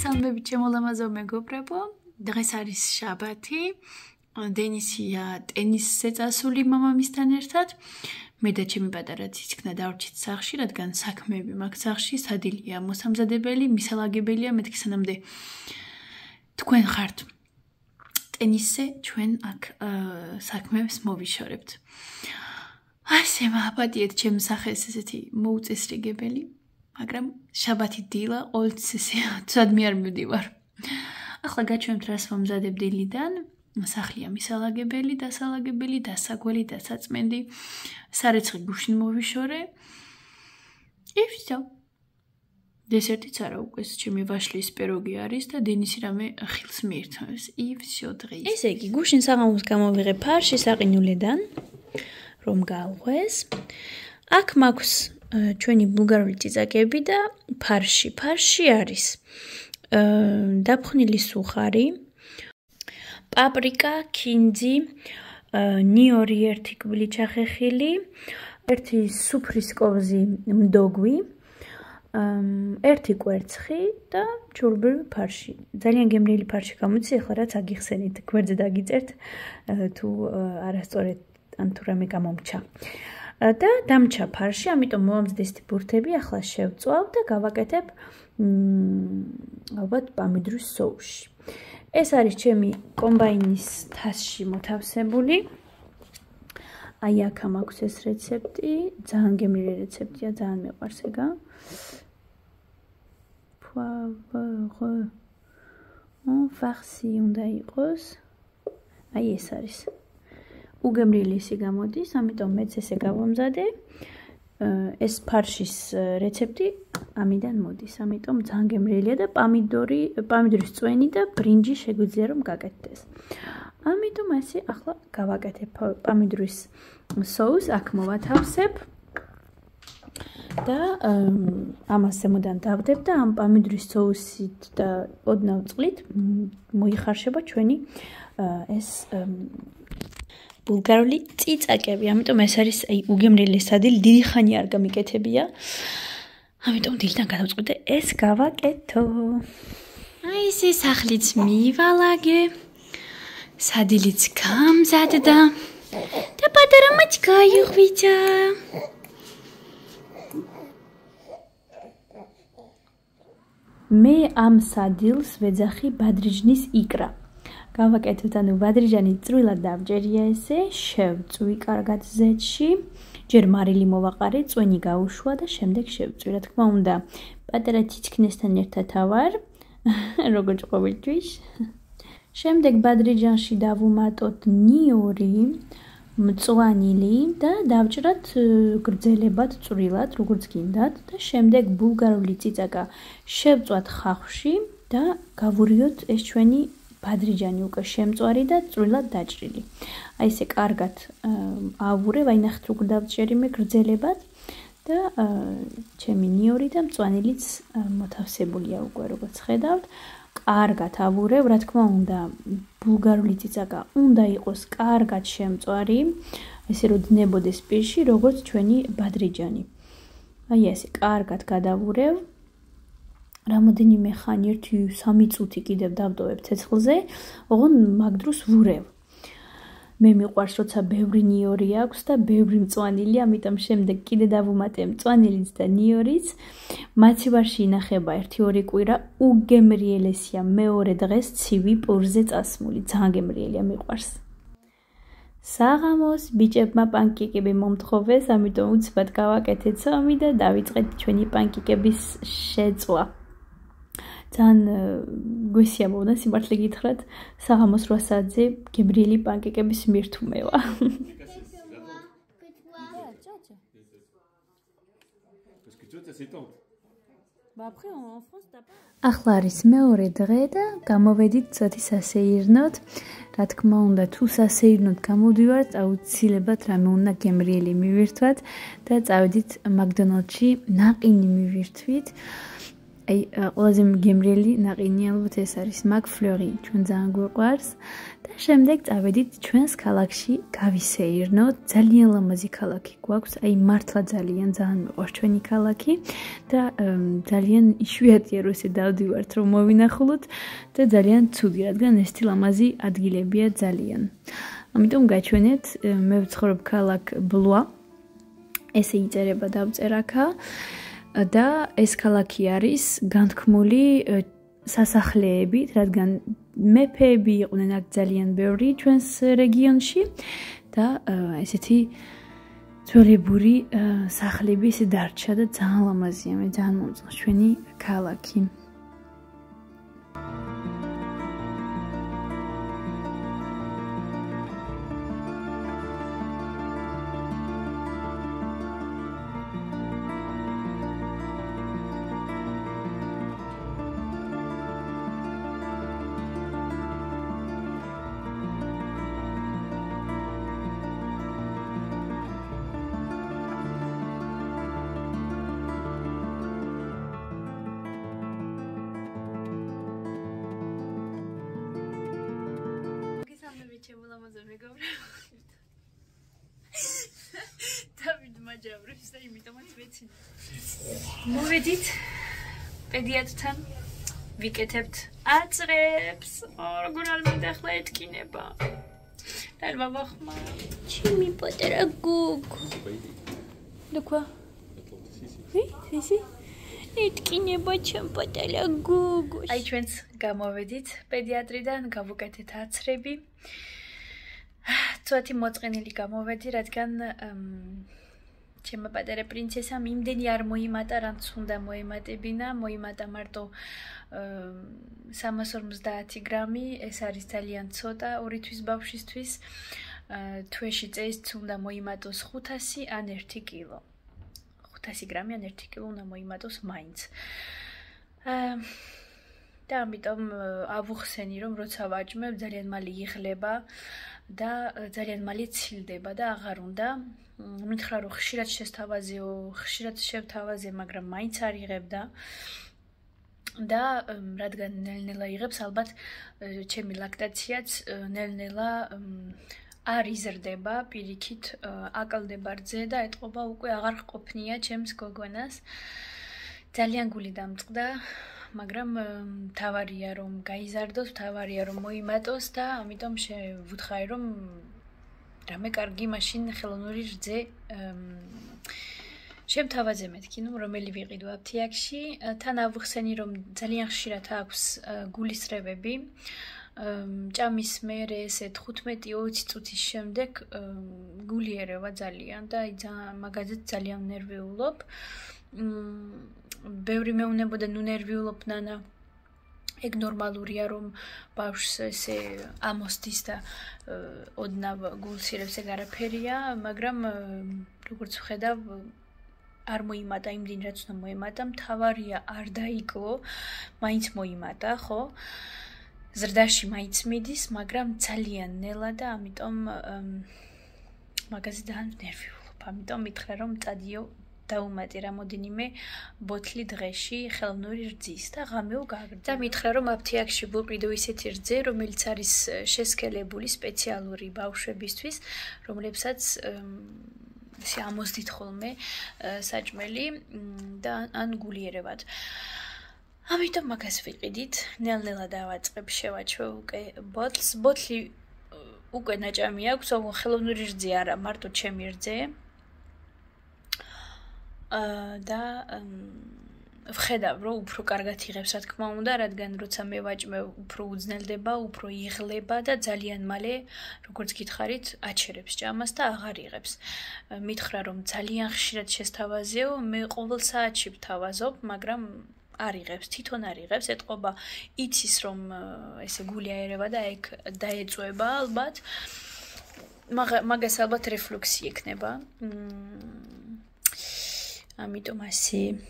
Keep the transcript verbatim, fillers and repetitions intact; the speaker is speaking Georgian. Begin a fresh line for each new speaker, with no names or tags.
მოგესალმებით ჩემო ლამაზო მეგობრებო. დღეს არის შაბათი. დენისია ტენისზე წასული მამამისთან ერთად. მე და ჩემი პატარა ციცქნა დავრჩით სახლში, რადგან საქმეები მაქვს სახლში, სადილია მოსამზადებელი, მისალაგებელია, მეთქი სანამდე თქვენ ხართ ტენისზე, ჩვენ აქ საქმეებს მოვიშორებთ. ასე მაპატიეთ ჩემ სახეს ესეთი მოუწესრიგებელი. მაგრამ შაბათი დილა ყოველთვის ესე ცუდმე არ მივდივარ. ახლა გაჩვენებთ რას მომზადებ დილიდან. სახლია მისალაგებელი, დასალაგებელი, დასაგველი, დასაწმენდი. სარეცხი გუშინ მოვიშორე. И всё. დესერტიც არა უკვე ჩემი ვაშლის პიროგი არის და დენისი რამე ხილს მიირთმევს. И всё დღეს.
ესე იგი გუშინ საღამოს გამოვიღე ფარში საყინულიდან, რომ გავღვეს. აქ მაქვს ჩვენი ბულგარული წიწაკები და ფარში. ფარში არის დაფხვნილი სუხარი, პაპრიკა, ქინძი, ნიორი ერთი კვილი ჩახეხილი, ერთი სუფრის კოვზი მდოგვი, ერთი კვერცხი და ჩურბილ ფარში. ძალიან გემრიელი ფარში გამოდის, ახლა რაც აგიხსენით, გვერდზე დაგიწერთ თუ არასწორად ან თუ რამე გამომჩა. და დამჩა ფარში, ამიტომ მომამზადეს ბურთები, ახლა შევწვავ და გავაკეთებ ალბათ პამიდრის სოუსში. ეს არის ჩემი კომბაინის თასში მოთავსებული. აი აქ მაქვს ეს რეცეპტი, ძალიან გემრიელი რეცეპტია, ძალიან მეყვარს ეგა. poivre en farci უნდა იყოს. აი ეს არის. უგემრიელი ისი გამოდის, ამიტომ მეც ესე გავამზადე. ეს ფარშის რეცეპტი ამიდან მოდის, ამიტომ ძალიან გემრიელია და პამიდორი, პამიდორის წვენი და ბრინჯი შეგვიძლია რომ გაკეთდეს. ამიტომ ასე ახლა გავაკეთებ პამიდორის სოუსს, აქ მოვათავსებ და ამას ზემოდან დავდებ და ამ პამიდორის სოუსით და ოდნავ წყლით მოიხარშება ჩვენი ეს ბულგარული წიწაკები, ამიტომ ეს არის აი უგემრიელი სადილ, დიდი ხანი არ გამიკეთებია. ამიტომ დილიდან გადავწყვიტე ეს გავაკეთო.
აი ესე სახლიც მივალაგე. სადილიც გამზადდა და პატარა მაჩ გაიღვიძა.
მე ამ სადილს ვეძახი ბადრიჟნის იკრა. გავაკეთოთ, ანუ ბადრიჟანი წვრილად დავჯერია ესე, შევწვი კარგად ზეთში, ჯერ მარილი მოვაყარე, წვენი გაუშვა და შემდეგ შევწვი. რა თქმა უნდა, პატარა ციცქნესთან ერთად ავარ, როგორც ყოველთვის. შემდეგ ბადრიჟანში დავუმატოთ ნიორი, მწვანილი და დავჭრათ გრძელებად წვრილად, როგორც გინდათ და შემდეგ ბულგარული წიწაკა შევწვათ ხახვში და გავურიოთ ეს ჩვენი ბადრიჟანი უკვე შემწვარი და წვრილად დაჭრილი. აი ესე კარგად ავურებ, აი ნახეთ როგორ დავჭერი მე გრძელებად და ჩემი ნიორი და მწვანილიც მოთავსებულია უკვე როგორც ხედავთ. კარგად ავურებ, რა თქმა უნდა, ბულგარული წიწაკა უნდა იყოს კარგად შემწვარი, ესე რომ დნებოდეს პირში, როგორც ჩვენი ბადრიჟანი. აი ესე კარგად გადავურებ. რამოდენიმე ხანი ერთი სამი წუთი კიდევ დავტოვებ ცეცხლზე, ოღონ მაგ დროს ვურევ. მე მიყვარს როცა ბევრი ნიორი აქვს და ბევრი მწვანილი, ამიტომ შემდეგ კიდე დავუმატე მწვანილიც და ნიორიც. მაცივარში ინახება ერთი ორი კვირა, უგემრიელესია, მეორე დღეს ცივი პურზე წასმული, ძალიან გემრიელია, მიყვარს. საღამოს ბიჭებმა პანკეკები მომთხოვეს, ამიტომ უცბად გავაკეთეთ ცომი და დავიწყეთ ჩვენი პანკეკების შეწვა. ძალიან გვესიამოვნა სიმართლე გითხრათ, საღამოს რვა საათზე გემრიელი პანკეკების მირთუმევა. ახლა არის მეორე დღე და გამოვედით ცოტი სასეირნოთ. რა თქმა უნდა, თუ სასეირნოთ გამოვდივართ, აუცილებლად რამე უნდა გემრიელი მივირთვათ და წავედით მაკდონალდში ნაყინი მივირთვით. აი ყველაზე მგემრიელი ნაყინი ალბათ ეს არის McFlurry, ჩვენ ძალიან გვყვარს და შემდეგ წავედით ჩვენს ქალაქში გავისეირნოთ. ძალიან ლამაზი ქალაქი გვაქვს, აი მართლა ძალიან ძალიან მიყვარს ჩვენი ქალაქი და ძალიან იშვიათია რომ ესე დავდივართ რომ მოვინახულოთ და ძალიან ცუდი, რადგან ესეთი ლამაზი ადგილებია ძალიან. ამიტომ გაჩვენეთ, მე ვცხოვრობ ქალაქ ბლუა. ესე იწერება დავწერ აქა. და ეს ქალაქი არის განთქმული სასახლეებით, რადგან მეფეები იყვნენ აქ ძალიან ბევრი ჩვენს რეგიონში და ესეთი ძველებური სახლები ისე დარჩა და ძალიან ლამაზია, მე ძალიან მომწონს ჩვენი ქალაქი.
მაჯავრებს და იმიტომაც ვეცინე. მოვედით პედიატრთან, ვიკეთებთ აწრებს. როგორ არ მინდა ახლა ეთკინება. და ბაბა ხმა. ჩემი პატარა გოგო. და ყვა? ვი? სისი? ეთკინება ჩემ პატარა გოგო. აი ჩვენც გამოვედით პედიატრიდან, გავუკეთეთ აწრები. ცოტა მოწყენილი გამოვედი, რადგან ჩემო პატარა პრინცესამ იმდენი არ მოიმატა, რაც უნდა მოემატებინა, მოიმატა მარტო სამას ორმოცდაათი გრამი, ეს არის ძალიან ცოტა ორი თვის ბავშვისთვის. თვეში წესით უნდა მოიმატოს ხუთასი ან ერთი კილო. ხუთასი გრამი ან ერთი კილო უნდა მოიმატოს მაინც. და ამიტომ ავუხსენი, რომ როცა ვაჭმევ, ძალიან მალე იღლება და ძალიან მალე ცილდება და აღარ უნდა. მითხრა რომ ხშირად შესთავაზეო, ხშირად შევთავაზე, მაგრამ მაინც არ იღებდა. და რადგან ნელ-ნელა იღებს, ალბათ ჩემი ლაქტაციაც ნელ-ნელა არ იზრდება, პირიქით აკლდება რძე და ეთყობა უკვე აღარ ყოფნია ჩემს გოგონას. ძალიან გული დამწყდა. მაგრამ თავარია რომ გაიზარდოს, თავარია რომ მოიმატოს და ამიტომ შევუთხარი რომ რამე კარგი მაშინ ხელოვნური რძე შემთავაზე მეთქი, ნუ რომელი ვიყიდო აფთიაქში. თან ავუხსენი რომ ძალიან ხშირად აქვს გულისრევები. ჭამის მერე ესე თხუთმეტი ოცი წუთის შემდეგ გული ერევა ძალიან და მაგაზეც ძალიან ნერვიულობ. ბევრი მეუნებოდა ნუ ნერვიულობ ნანა. ეგ ნორმალურია რომ ბავშვს ესე ამოსდის და ოდნავ გულს ირევს, ეგ არაფერია, მაგრამ როგორც ვხედავ არ მოიმატა იმდენ რაც უნდა მოემატა, მთავარია არ დაიკლო, მაინც მოიმატა, ხო? ზრდაში მაინც მიდის, მაგრამ ძალიან ნელა და ამიტომ მაგაზე ძალიან ნერვიულობ. ამიტომ მითხრა რომ წადიო დაუმატე რამოდენიმე ბოთლი დღეში ხელოვნური რძის და ღამეო გაგრძელო. და მითხრა რომ აფთიაქში ვუყიდო ისეთი რძე, რომელიც არის შესქელებული სპეციალური ბავშვებისთვის, რომლებსაც ესე ამოსდით ხოლმე საჭმელი და ან გულიერებად. ამიტომ მაგას ვიყიდით, ნელ-ნელა დავაწყებ, შევაჩვევ უკვე ბოთლს. ბოთლი უკვე ნაჭამი აქვს, ხელოვნური რძე არა, მარტო ჩემი რძე. და ვხედავ რომ უფრო კარგად იღებს, რა თქმა უნდა, რადგან როცა მე ვაჭმევ, უფრო უძნელდება, უფრო იღლება და ძალიან მალე, როგორც გითხარით, აჩერებს ჭამას და აღარ იღებს. მითხრა რომ ძალიან ხშირად შესთავაზეო, მე ყოველ საათში ვთავაზობ, მაგრამ არ იღებს, თვითონ არ იღებს, ეთყობა იცის რომ ესე გული აერევა და ეგ დაეწვება ალბათ. მაგას ალბათ რეფლუქსი ექნება. ამიტომ ასე